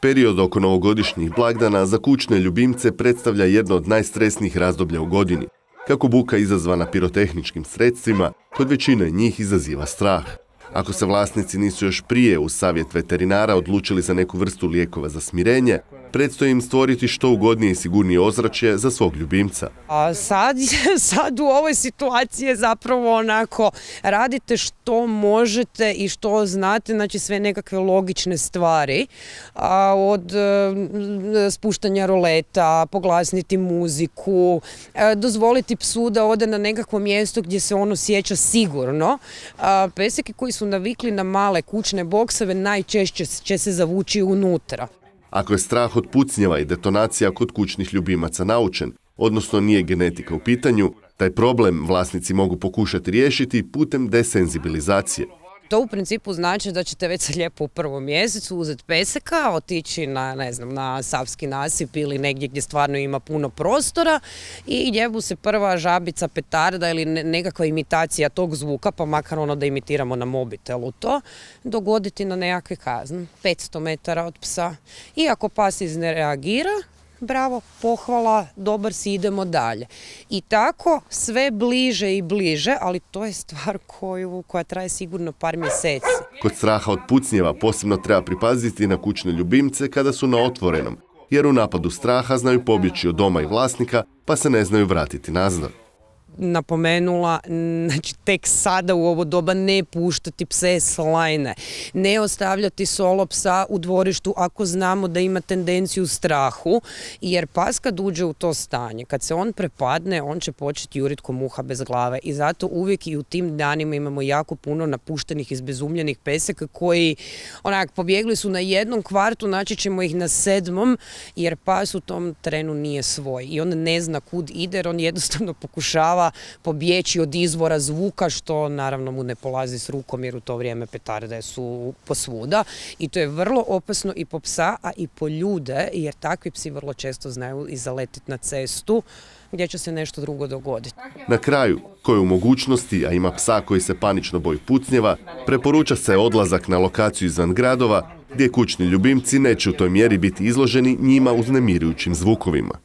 Period oko novogodišnjih blagdana za kućne ljubimce predstavlja jedno od najstresnijih razdoblja u godini. Kako buka izazvana pirotehničkim sredstvima, kod većine njih izaziva strah. Ako se vlasnici nisu još prije uz savjet veterinara odlučili za neku vrstu lijekova za smirenje, predstoji im stvoriti što ugodnije i sigurnije ozračje za svog ljubimca. A sad u ovoj situaciji je zapravo onako, radite što možete i što znate, znači sve nekakve logične stvari, od spuštanja roleta, poglasniti muziku, dozvoliti psu da ode na nekakvo mjesto gdje se on osjeća sigurno. Peseki koji su navikli na male kućne bokseve najčešće će se zavući unutra. Ako je strah od pucnjeva i detonacija kod kućnih ljubimaca naučen, odnosno nije genetika u pitanju, taj problem vlasnici mogu pokušati riješiti putem desenzibilizacije. To u principu znači da ćete već sad lijepo u prvom mjesecu uzeti peseka, otići na Savski nasip ili negdje gdje stvarno ima puno prostora i gdje mu se prva žabica, petarda ili nekakva imitacija tog zvuka, pa makar ono da imitiramo na mobitelu to, dogoditi na nekakve kazne, 500 metara od psa. I ako pas ne reagira, bravo, pohvala, dobar si, idemo dalje. I tako sve bliže i bliže, ali to je stvar koja traje sigurno par mjeseci. Kod straha od pucnjeva posebno treba pripaziti na kućne ljubimce kada su na otvorenom, jer u napadu straha znaju pobjeći od doma i vlasnika, pa se ne znaju vratiti nazad. Napomenula, znači tek sada u ovo doba ne puštati pse s lajne, ne ostavljati solo psa u dvorištu ako znamo da ima tendenciju strahu, jer pas kad uđe u to stanje, kad se on prepadne, on će početi jurit ko muha bez glave i zato uvijek i u tim danima imamo jako puno napuštenih, izbezumljenih peseka koji pobjegli su na jednom kvartu, naći ćemo ih na 7. jer pas u tom trenu nije svoj i on ne zna kud ide, jer on jednostavno pokušava pobjeći od izvora zvuka, što naravno mu ne polazi s rukom jer u to vrijeme petarde su posvuda i to je vrlo opasno i po psa, a i po ljude, jer takvi psi vrlo često znaju i zaletiti na cestu gdje će se nešto drugo dogoditi. Na kraju, koji u mogućnosti, a ima psa koji se panično boji pucnjeva, preporuča se odlazak na lokaciju izvan gradova gdje kućni ljubimci neće u toj mjeri biti izloženi njima uznemirujućim zvukovima.